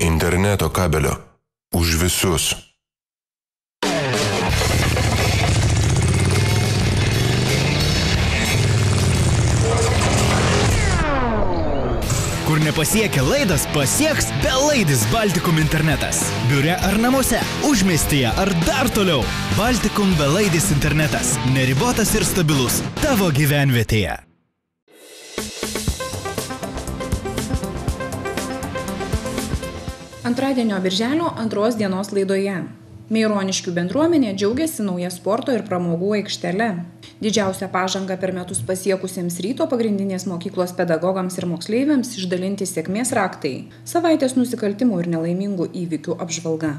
interneto kabelio. Už visus. Kur nepasiekia laidas, pasieks belaidis Baltikum internetas. Biure ar namuose, užmiestyje ar dar toliau. Baltikum belaidis internetas. Neribotas ir stabilus. Tavo gyvenvietėje. Antradienio birželio 2 dienos laidoje. Meironiškių bendruomenė džiaugiasi nauja sporto ir pramogų aikštele. Didžiausią pažangą per metus pasiekusiems Ryto pagrindinės mokyklos pedagogams ir moksleiviams išdalinti sėkmės raktai. Savaitės nusikaltimų ir nelaimingų įvykių apžvalga.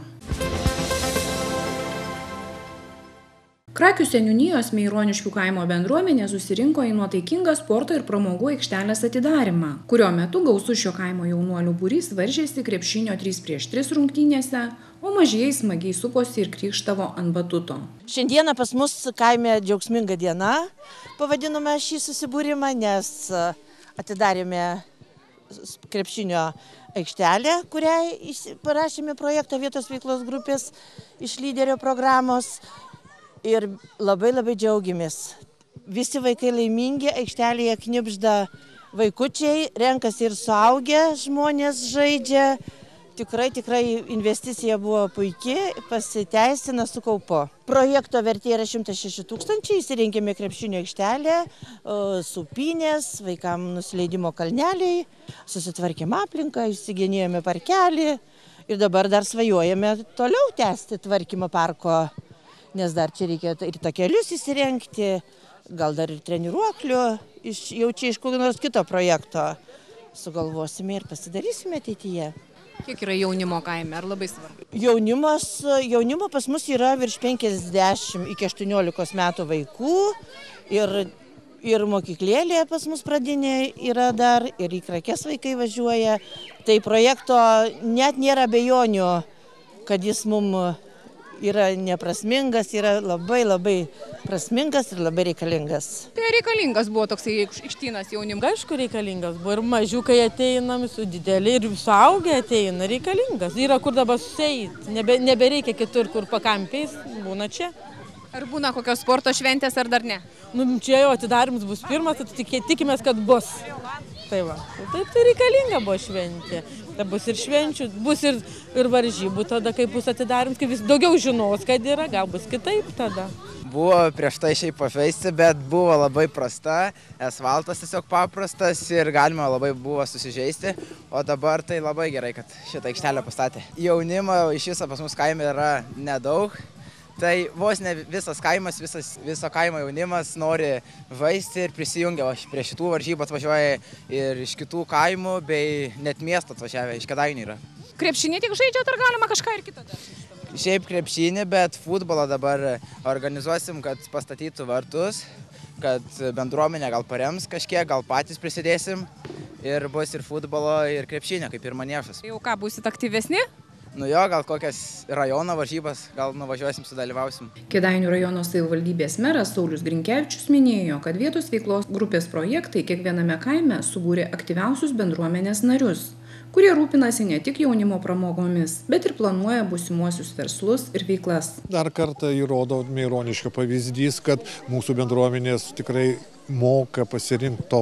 Krakių seniūnijos Meironiškių kaimo bendruomenė susirinko į nuotaikingą sporto ir pramogų aikštelės atidarymą, kurio metu gausus šio kaimo jaunuolių būrys varžėsi krepšinio 3x3 rungtynėse, o mažieji smagiai suposi ir krykštavo ant batuto. Šiandieną pas mus kaime džiaugsminga diena, pavadinome šį susibūrimą, nes atidarėme krepšinio aikštelę, kuriai parašėme projektą vietos veiklos grupės iš lyderio programos. Ir labai džiaugiamės. Visi vaikai laimingi, aikštelėje knibžda vaikučiai, renkasi ir suaugę žmonės žaidžia. Tikrai investicija buvo puikiai, pasiteisina su kaupu. Projekto vertė yra 106 000, įsirinkėme krepšinio aikštelę, supynės, vaikams nusileidimo kalneliai, susitvarkėme aplinką, įsigenėjome parkelį ir dabar dar svajojame toliau tęsti tvarkymą parko. Nes dar čia reikia ir takelius įsirengti, gal dar ir treniruoklių, jau čia iš kokio nors kito projekto sugalvosime ir pasidarysime ateityje. Kiek yra jaunimo kaime, ar labai svarbu? Jaunimo pas mus yra virš 50 iki 18 metų vaikų ir mokyklėlė pas mus pradinė yra dar, ir į Krakes vaikai važiuoja. Tai projekto net nėra abejonių, kad jis mums yra neprasmingas, yra labai prasmingas ir labai reikalingas. Tai reikalingas buvo toksai aikštynas jaunimui? Aišku, reikalingas buvo. Ir mažiukai ateinam, su dideli ir suaugę ateina, reikalingas. Yra kur dabar susieiti, nebereikia kitur, kur pakampiais, būna čia. Ar būna kokios sporto šventės, ar dar ne? Čia jau atidarimas bus pirmas, tai tikimės, kad bus. Tai va, taip tai reikalinga buvo šventė. Tai bus ir švenčių, bus ir varžybų tada, kai bus atidarimas, kai vis daugiau žinos, kad yra, gal bus kitaip tada. Buvo prieš tai šiaip pažaisti, bet buvo labai prasta, asfaltas tiesiog paprastas ir galima labai buvo susižeisti, o dabar tai labai gerai, kad šitą aikštelę pastatė. Jaunimo iš viso pas mus kaime yra nedaug. Tai vos ne visas kaimas, viso kaimo jaunimas nori žaisti ir prisijungia. Prie šitų varžybų atvažiuoja ir iš kitų kaimų, bei net miesto atvažiavę, iš Kėdainių yra. Krepšinį tik žaidžiat, ar galima kažką ir kitą? Šiaip krepšinį, bet futbolą dabar organizuosim, kad pastatytų vartus, kad bendruomenė gal parems kažkiek, gal patys prisidėsim. Ir bus ir futbolo, ir krepšinio, kaip ir maniežas. Jau ką, būsit aktyvesni? Nu jo, gal kokias rajono varžybas, gal nuvažiuosim, sudalyvausim. Kėdainių rajono savivaldybės meras Saulius Grinkevičius minėjo, kad vietos veiklos grupės projektai kiekviename kaime subūrė aktyviausius bendruomenės narius, kurie rūpinasi ne tik jaunimo pramogomis, bet ir planuoja būsimuosius verslus ir veiklas. Dar kartą įrodo Meironiškio pavyzdys, kad mūsų bendruomenės tikrai moka pasirinkti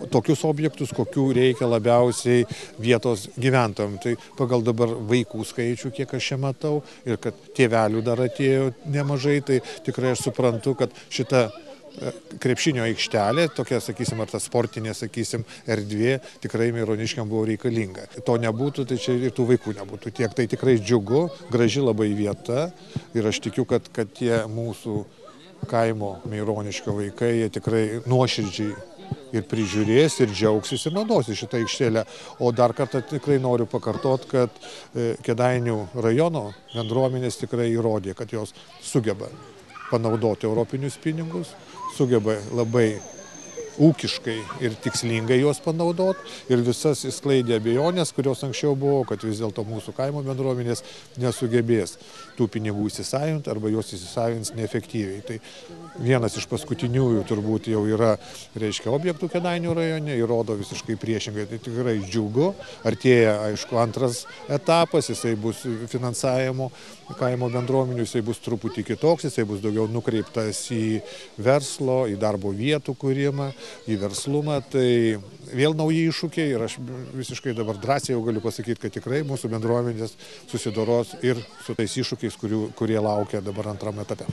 tokius objektus, kokių reikia labiausiai vietos gyventojams. Tai pagal dabar vaikų skaičių, kiek aš čia matau, ir kad tėvelių dar atėjo nemažai, tai tikrai aš suprantu, kad šita krepšinio aikštelė, tokia, sakysim, ar ta sportinė, sakysim, erdvė, tikrai Meironiškiam buvo reikalinga. To nebūtų, tai čia ir tų vaikų nebūtų tiek. Tai tikrai džiugu, graži labai vieta ir aš tikiu, kad tie mūsų kaimo Meironiškio vaikai, jie tikrai nuoširdžiai ir prižiūrės, ir džiaugsis, ir naudosis šitą aikštelę. O dar kartą tikrai noriu pakartoti, kad Kėdainių rajono bendruomenės tikrai įrodė, kad jos sugeba panaudoti europinius pinigus, sugeba labai ūkiškai ir tikslingai juos panaudoti ir visas išsklaidė abejonės, kurios anksčiau buvo, kad vis dėlto mūsų kaimo bendruomenės nesugebės tų pinigų įsisavinti arba juos įsisavins neefektyviai. Tai vienas iš paskutiniųjų turbūt jau yra, reiškia, objektų Kėdainių rajone ir rodo visiškai priešingai. Tai tikrai džiugu. Artėja, aišku, antras etapas, jisai bus finansavimo kaimo bendruomenių, jisai bus truputį kitoks, jisai bus daugiau nukreiptas į verslo, į darbo vietų kūrimą, į verslumą. Tai vėl nauji iššūkiai ir aš visiškai dabar drąsiai jau galiu pasakyti, kad tikrai mūsų bendruomenės susidoros ir su tais iššūkiais, kurie laukia dabar antrame etape.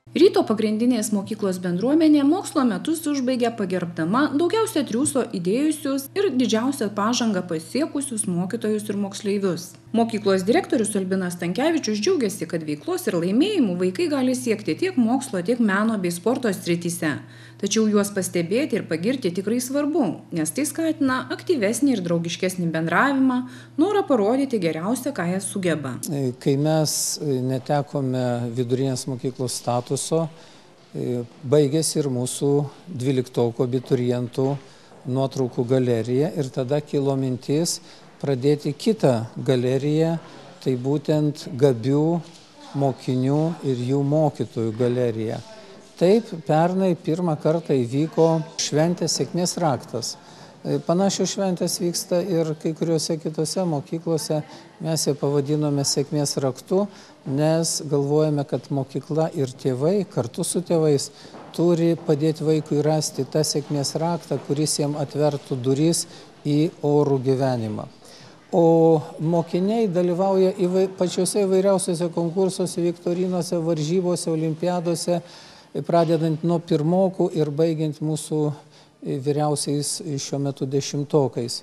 Ryto pagrindinės mokyklos bendruomenė mokslo metus užbaigė pagerbdama daugiausia triūso įdėjusius ir didžiausią pažangą pasiekusius mokytojus ir moksleivius. Mokyklos direktorius Albinas Stankevičius džiaugiasi, kad veiklos ir laimėjimų vaikai gali siekti tiek mokslo, tiek meno bei sporto srityse. Tačiau juos pastebėti ir pagirti tikrai svarbu, nes tai skatina aktyvesnį ir draugiškesnį bendravimą, norą parodyti geriausią, ką jie sugeba. Kai mes netekome vidurinės mokyklos statuso, baigėsi ir mūsų 12 abiturientų nuotraukų galerija ir tada kilo mintis pradėti kitą galeriją, tai būtent gabių mokinių ir jų mokytojų galeriją. Taip, pernai pirmą kartą įvyko šventės sėkmės raktas. Panašios šventės vyksta ir kai kuriuose kitose mokyklose. Mes ją pavadinome sėkmės raktu, nes galvojame, kad mokykla ir tėvai kartu su tėvais turi padėti vaikui rasti tą sėkmės raktą, kuris jam atvertų duris į orų gyvenimą. O mokiniai dalyvauja pačiuose įvairiausiuose konkursuose, viktorinose, varžybose, olimpiadose, pradedant nuo pirmokų ir baigiant mūsų vyriausiais šiuo metu 10-okais.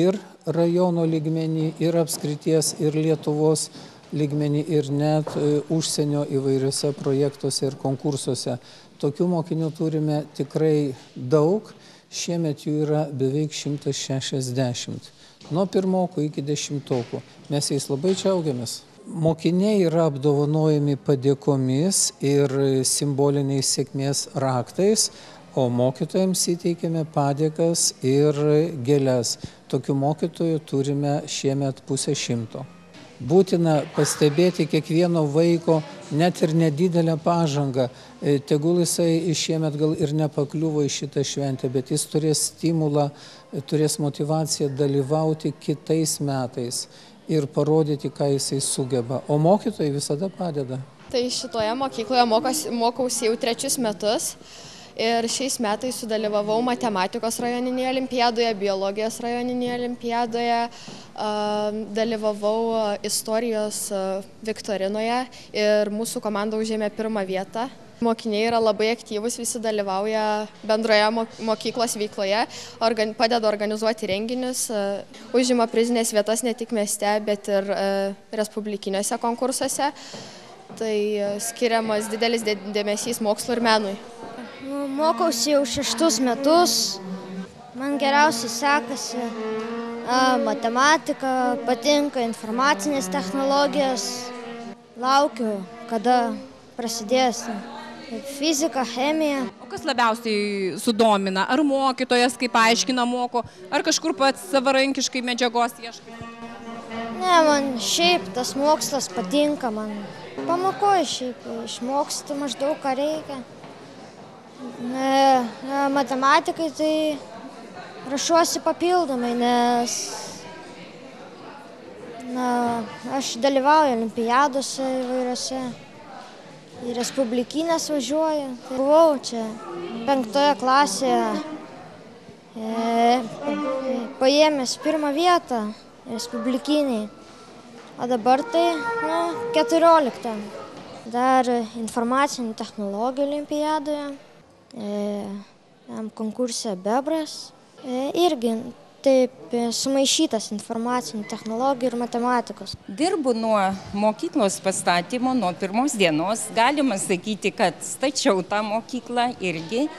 Ir rajono lygmenį, ir apskrities, ir Lietuvos lygmenį, ir net užsienio įvairiuose projektuose ir konkursuose. Tokių mokinių turime tikrai daug, šiemet jų yra beveik 160. Nuo pirmokų iki 10-okų. Mes jais labai džiaugiamės. Mokiniai yra apdovanojami padėkomis ir simboliniais sėkmės raktais, o mokytojams įteikėme padėkas ir gėles. Tokių mokytojų turime šiemet 50. Būtina pastebėti kiekvieno vaiko net ir nedidelę pažangą. Tegul jisai šiemet gal ir nepakliuvo į šitą šventę, bet jis turės stimulą, turės motivaciją dalyvauti kitais metais ir parodyti, ką jisai sugeba. O mokytojai visada padeda. Tai šitoje mokykloje mokausi jau 3 metus ir šiais metais sudalyvavau matematikos rajoninėje olimpiadoje, biologijos rajoninėje olimpiadoje, dalyvavau istorijos viktorinoje ir mūsų komanda užėmė 1 vietą. Mokiniai yra labai aktyvūs, visi dalyvauja bendroje mokyklos veikloje, padeda organizuoti renginius, užima prizinės vietas ne tik mieste, bet ir respublikiniuose konkursuose. Tai skiriamas didelis dėmesys mokslo ir menui. Mokausi jau 6 metus, man geriausiai sekasi matematika, patinka informacinės technologijos, laukiu, kada prasidės fizika, chemija. O kas labiausiai sudomina? Ar mokytojas, kaip aiškina, moko, ar kažkur pats savarankiškai medžiagos ieškai? Ne, man šiaip tas mokslas patinka, man pamokoju šiaip, išmoksti maždaug, ką reikia. Matematikai tai rašuosi papildomai, nes aš dalyvauju olimpiadose įvairiose. Į respublikinės važiuoju. Buvau čia 5 klasėje, paėmęs 1 vietą respublikiniai, o dabar tai 14. Dar informacinių technologijų olimpiadoje, konkurse Bebras, irgi taip sumaišytas informacinių technologijų ir matematikos. Dirbu nuo mokyklos pastatymo, nuo 1 dienos. Galima sakyti, kad stačiau tą mokyklą irgi.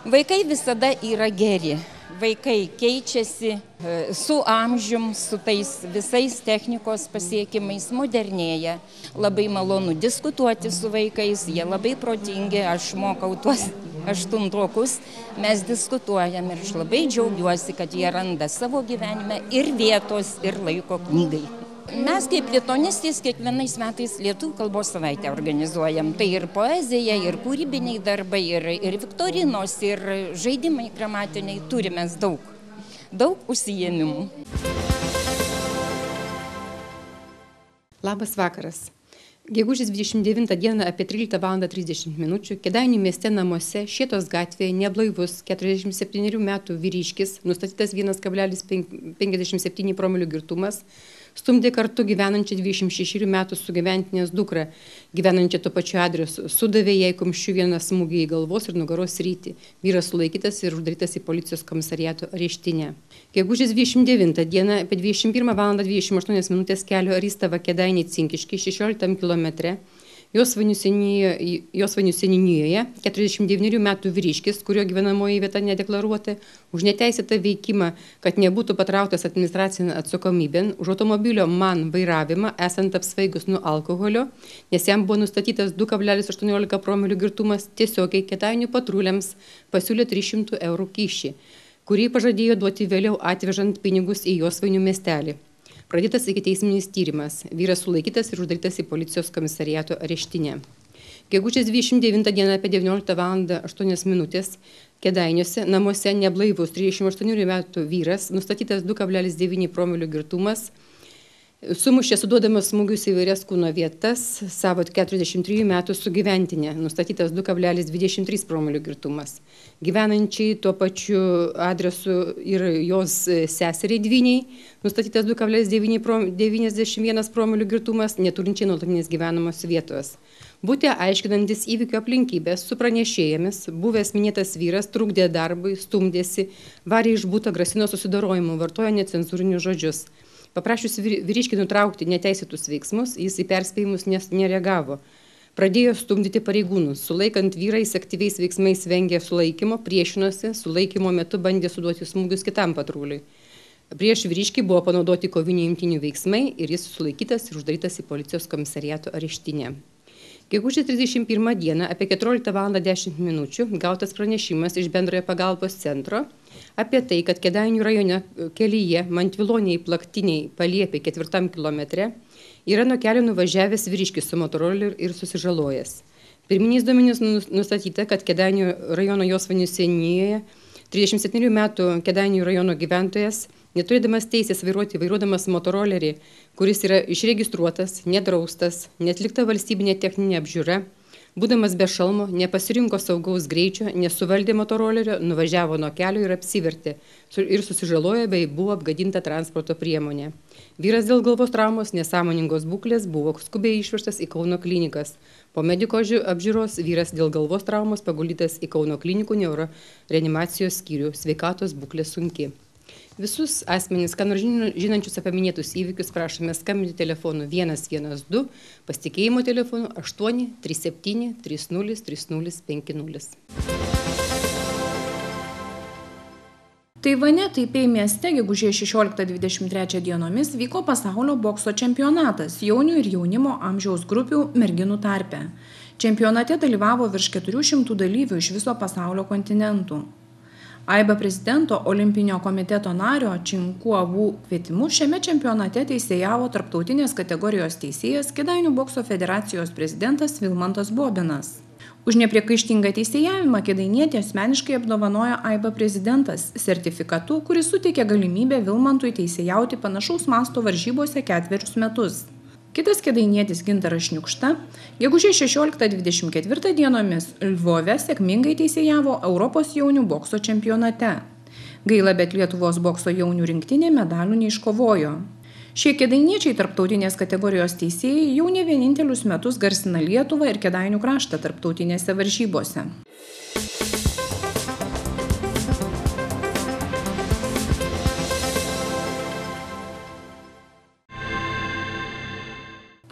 Vaikai visada yra geri. vaikai keičiasi su amžium, su tais visais technikos pasiekimais, modernėja. Labai malonu diskutuoti su vaikais, jie labai protingi, aš mokau tuos 8-okus, mes diskutuojam ir aš labai džiaugiuosi, kad jie randa savo gyvenime ir vietos, ir laiko knygai. Mes kaip lituanistės kiekvienais metais lietuvių kalbos savaitę organizuojam. Tai ir poezija, ir kūrybiniai darbai, ir viktorinos, ir žaidimai gramatiniai. Turime daug užsiėmimų. Labas vakaras. Gegužės 29 dieną apie 13:30 min. Kėdainių mieste namuose Šėtos gatvėje neblaivus 47 metų vyriškis, nustatytas 1,57 promilių girtumas, stumdė kartu gyvenančią 26 metų sugyventinės dukrą, gyvenančią tuo pačiu adresu, sudavė jai kumščiu vieną smūgį į galvos ir nugaros sritį. Vyras sulaikytas ir uždarytas į policijos komisariato areštinę. Gegužės 29 dieną apie 21:28 min. Kelio Arystava Kėdainiai Cinkiškiai 16 km. Josvainių seniūnijoje 49 metų vyriškis, kurio gyvenamoji vieta nedeklaruota, už neteisėtą veikimą, kad nebūtų patrauktas administracinę atsakomybėn, už automobilio MAN vairavimą, esant apsvaigus nuo alkoholio, nes jam buvo nustatytas 2,18 promilių girtumas, tiesiogiai Kėdainių patruliams pasiūlė 300 eurų kyšį, kurį pažadėjo duoti vėliau atvežant pinigus į Josvainių miestelį. Pradėtas ikiteisminis tyrimas. Vyras sulaikytas ir uždarytas į policijos komisariato areštinę. Gegužės 29 dieną apie 19:08 min. Kėdainiuose namuose neblaivus 38 metų vyras, nustatytas 2,9 promilių girtumas, sumušė suduodamas smūgius į vairias kūno vietas savo 43 metų sugyventinę, nustatytas 2,23 promilių girtumas. Gyvenančiai tuo pačiu adresu ir jos seseriai dvyniai, nustatytas 2,91 promilių girtumas, neturinčiai nuolatinės gyvenamos vietos. Būti aiškinantis įvykio aplinkybės su pranešėjomis, buvęs minėtas vyras trukdė darbui, stumdėsi, varė iš buto, grasino susidorojimu, vartojo necenzūrinius žodžius. Paprašius vyriškį nutraukti neteisėtus veiksmus, jis į perspėjimus nereagavo. Pradėjo stumdyti pareigūnus. Sulaikant vyrais aktyviais veiksmais vengė sulaikymo, priešinosi, sulaikymo metu bandė suduoti smūgius kitam patruliui. Prieš vyriškį buvo panaudoti kovinių imtynių veiksmai ir jis sulaikytas ir uždarytas į policijos komisariato areštinę. Gegužės 31 dieną apie 14:10 min. Gautas pranešimas iš bendrojo pagalbos centro apie tai, kad Kėdainių rajone kelyje Mantviloniai Plaktiniai Paliepė 4 km yra nuo kelio nuvažiavęs vyriškis su motoroleriu ir susižalojęs. Pirminiais duomenimis nustatyta, kad Kėdainių rajono Josvainių seniūnijoje 37 metų Kėdainių rajono gyventojas, neturėdamas teisės vairuodamas motorolerį, kuris yra išregistruotas, nedraustas, neatlikta valstybinė techninė apžiūra, būdamas be šalmo, nepasirinko saugaus greičio, nesuvaldė motorolerio, nuvažiavo nuo kelio ir apsivertė ir susižalojo bei buvo apgadinta transporto priemonė. Vyras dėl galvos traumos nesąmoningos būklės buvo skubiai išvežtas į Kauno klinikas. Po mediko apžiūros vyras dėl galvos traumos paguldytas į Kauno klinikų neuroreanimacijos skyrių, sveikatos būklė sunki. Visus asmenys, ką nors žinančius apie minėtus įvykius, prašome skambinti telefonu 112, pasitikėjimo telefonu 837 30 30 50. Taivane Taipei mieste gegužės 16-23 dienomis vyko pasaulio bokso čempionatas jaunių ir jaunimo amžiaus grupių merginų tarpe. Čempionate dalyvavo virš 400 dalyvių iš viso pasaulio kontinentų. AIBA prezidento olimpinio komiteto nario Činkuavų kvietimu šiame čempionate teisėjavo tarptautinės kategorijos teisėjas Kėdainių bokso federacijos prezidentas Vilmantas Bobinas. Už nepriekaištingą teisėjavimą kėdainietį asmeniškai apdovanojo AIBA prezidentas sertifikatu, kuris suteikė galimybę Vilmantui teisėjauti panašaus masto varžybose 4 metus. Kitas kėdainietis Gintaras Šniukšta gegužės 16-24 dienomis Lvove sėkmingai teisėjavo Europos jaunių bokso čempionate. Gaila, bet Lietuvos bokso jaunių rinktinė medalių neiškovojo. Šie kėdainiečiai tarptautinės kategorijos teisėjai jau ne vienintelius metus garsina Lietuvą ir Kėdainių kraštą tarptautinėse varžybose.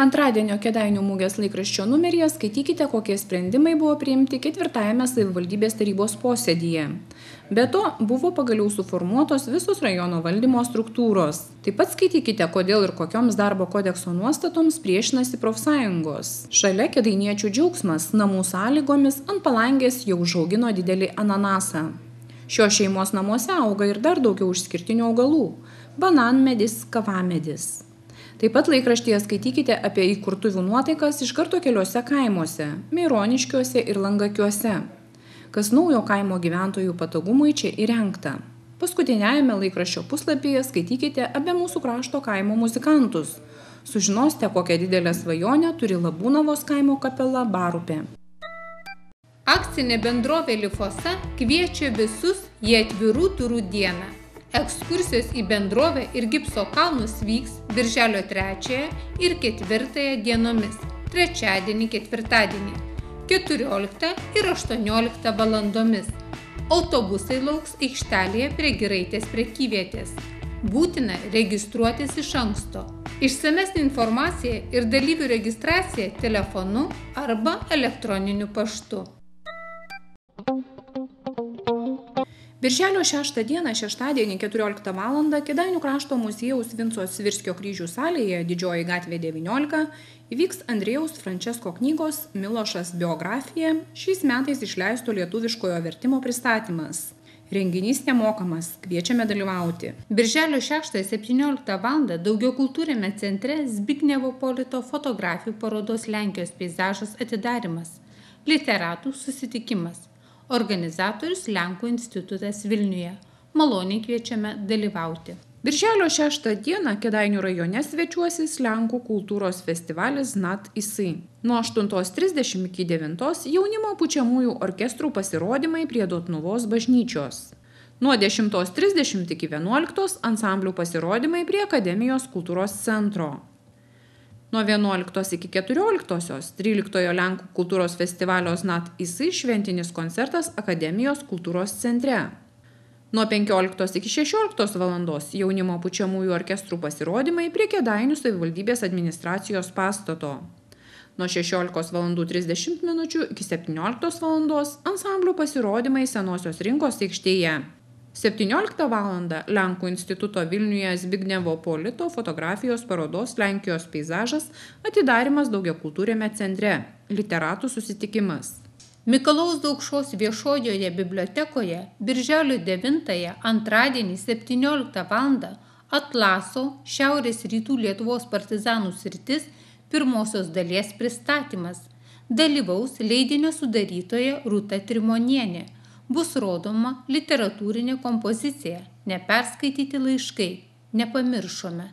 Antradienio Kėdainių mugės laikraščio numeryje skaitykite, kokie sprendimai buvo priimti 4-ame savivaldybės tarybos posėdyje. Be to, buvo pagaliau suformuotos visos rajono valdymo struktūros. Taip pat skaitykite, kodėl ir kokioms darbo kodekso nuostatoms priešinasi profsąjungos. Šalia kėdainiečių džiaugsmas namų sąlygomis ant palangės jau užaugino didelį ananasą. Šios šeimos namuose auga ir dar daugiau išskirtinių augalų – bananmedis, kavamedis. Taip pat laikraštyje skaitykite apie įkurtuvių nuotaikas iš karto keliuose kaimuose – Meironiškiuose ir Langakiuose. Kas naujo kaimo gyventojų patogumui čia įrengta. Paskutiniajame laikraščio puslapyje skaitykite apie mūsų krašto kaimo muzikantus. Sužinosite, kokią didelę svajonę turi Labūnavos kaimo kapela Barupė. Akcinė bendrovė Lifosa kviečia visus į atvirų durų dieną. Ekskursijos į bendrovę ir gipso kalnus vyks birželio 3 ir 4 dienomis, trečiadienį, ketvirtadienį, 14 ir 18 valandomis. Autobusai lauks aikštelėje prie Giraitės prekyvietės. Būtina registruotis iš anksto. Išsamesnė informacija ir dalyvių registracija telefonu arba elektroniniu paštu. Birželio 6 dieną, šeštadienį 14 val. Kėdainių krašto muziejaus Vinco Svirskio kryžių salėje, Didžioji gatvė 19, įvyks Andrėjaus Frančesko knygos Milošas biografija šiais metais išleisto lietuviškojo vertimo pristatymas. Renginys nemokamas, kviečiame dalyvauti. Birželio 6-17 val. Daugiakultūriame centre Zbignevo Polito fotografijų parodos Lenkijos peizažas atidarymas. Literatų susitikimas. Organizatorius Lenkų institutas Vilniuje. Maloniai kviečiame dalyvauti. Birželio 6 dieną Kėdainių rajone svečiuosis Lenkų kultūros festivalis Znat Isai. Nuo 8:30 iki 9 jaunimo pučiamųjų orkestrų pasirodymai prie Dotnuvos bažnyčios. Nuo 10:30 iki 11 ansamblių pasirodymai prie Akademijos kultūros centro. Nuo 11 iki 14 13 Lenkų kultūros festivalio Znat Isai šventinis koncertas Akademijos kultūros centre. Nuo 15 iki 16 valandos jaunimo pučiamųjų orkestrų pasirodymai prie Kėdainių savivaldybės administracijos pastato. Nuo 16:30 min. Iki 17 valandos ansamblių pasirodymai Senosios rinkos aikštėje. 17 val. Lenkų instituto Vilniuje Zbignevo Polito fotografijos parodos Lenkijos peizažas atidarymas daugiakultūriame centre. Literatų susitikimas. Mikalojaus Daukšos viešojoje bibliotekoje birželio 9 antradienį 17 val. Atlaso Šiaurės rytų Lietuvos partizanų sritis pirmosios dalies pristatymas. Dalyvaus leidinio sudarytoja Rūta Trimonienė. Bus rodoma literatūrinė kompozicija Neperskaityti laiškai, nepamiršome,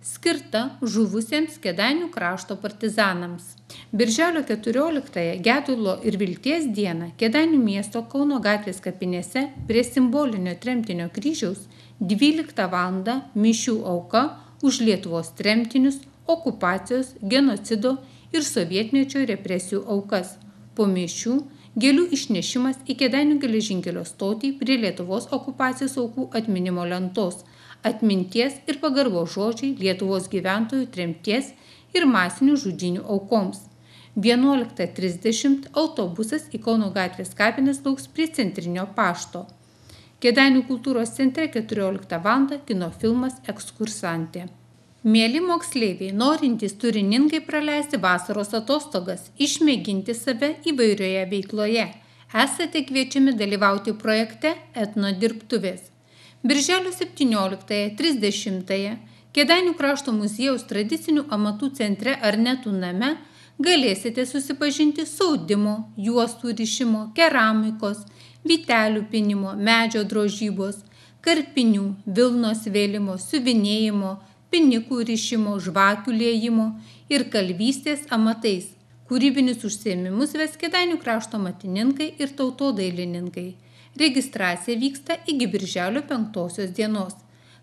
skirta žuvusiems Kėdainių krašto partizanams. Birželio 14 Gedulo ir Vilties dieną Kėdainių miesto Kauno gatvės kapinėse prie simbolinio tremtinio kryžiaus 12 val. Mišių auka už Lietuvos tremtinius, okupacijos, genocido ir sovietmečio represijų aukas. Po mišių gėlių išnešimas į Kėdainių geležinkelio stotį prie Lietuvos okupacijos aukų atminimo lentos, atminties ir pagarbos žodžiai Lietuvos gyventojų tremties ir masinių žudynių aukoms. 11:30 autobusas į Kauno gatvės kapines lauks prie centrinio pašto. Kėdainių kultūros centre 14 val. Kino filmas Ekskursantė. Mėly moksleiviai, norintys turiningai praleisti vasaros atostogas, išmėginti save įvairioje veikloje, esate kviečiami dalyvauti projekte Etno dirbtuvės. Birželio 17-30 Kėdainių krašto muziejaus tradicinių amatų centre Arnetų name galėsite susipažinti su audimo, juostų rišimo, keramikos, vytelių pinimo, medžio drožybos, karpinių, vilnos vėlimo, siuvinėjimo, pinikų rišimo, žvakių liejimo ir kalvystės amatais. Kūrybinius užsiėmimus ves Kėdainių krašto matininkai ir tautodailininkai. Registracija vyksta iki birželio 5 dienos.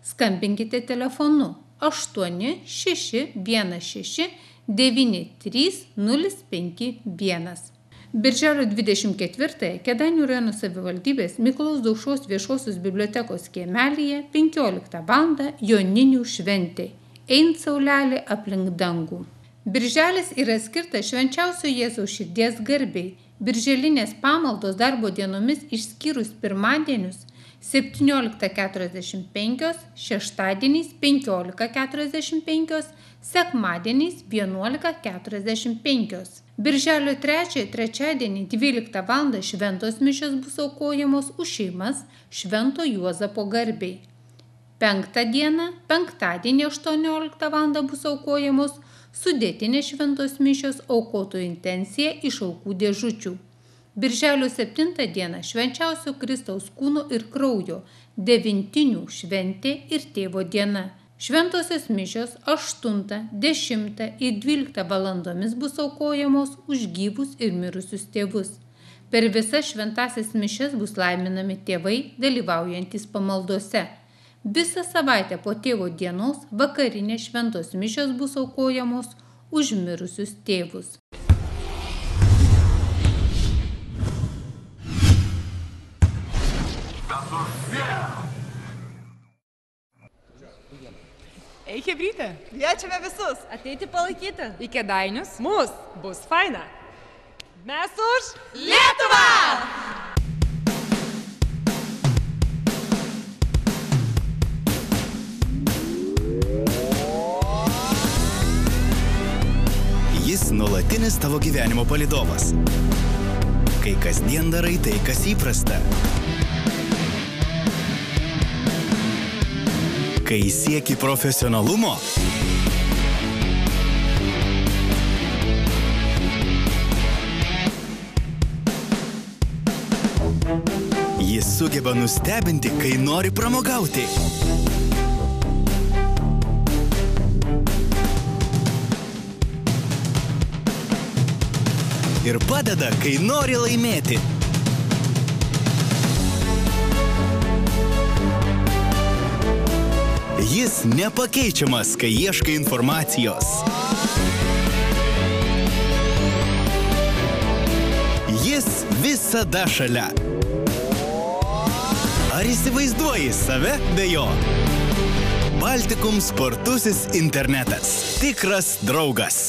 Skambinkite telefonu 8616 93051. Birželio 24 Kėdainių rajono savivaldybės Mikalojaus Daukšos viešosios bibliotekos kiemelyje 15 val. Joninių šventė. Eint saulelė aplink dangų. Birželis yra skirtas Švenčiausio Jėzaus širdies garbei. Birželinės pamaldos darbo dienomis išskyrus pirmadienius 17:45, šeštadieniais 15:45, sekmadieniais 11:45. Birželio 3 trečiadienį 12 val. Šventos mišios bus aukojamos už šeimas Švento Juozapo garbei. 5 dieną, penktadienį 18 val. Bus aukojamos sudėtinės šventos mišios aukotojų intencija iš aukų dėžučių. Birželio 7 dieną Švenčiausio Kristaus kūno ir kraujo devintinių šventė ir tėvo diena. Šventosios mišios 8, 10 ir 12 valandomis bus aukojamos už gyvus ir mirusius tėvus. Per visas šventasias mišias bus laiminami tėvai, dalyvaujantys pamaldose. Visą savaitę po tėvo dienos vakarinės šventos mišios bus aukojamos už mirusius tėvus. Ei, chebrytė. Kviečiame visus ateiti palaikyti. Į Kėdainius. Mus bus faina. Mes už Lietuvą! Jis nuolatinis tavo gyvenimo palydovas. Kai kasdien darai tai, kas įprasta. Kai sieki profesionalumo, jis sugeba nustebinti, kai nori pramogauti. Ir padeda, kai nori laimėti. Jis nepakeičiamas, kai ieškai informacijos. Jis visada šalia. Ar įsivaizduoji save be jo? Baltikum spartusis internetas. Tikras draugas.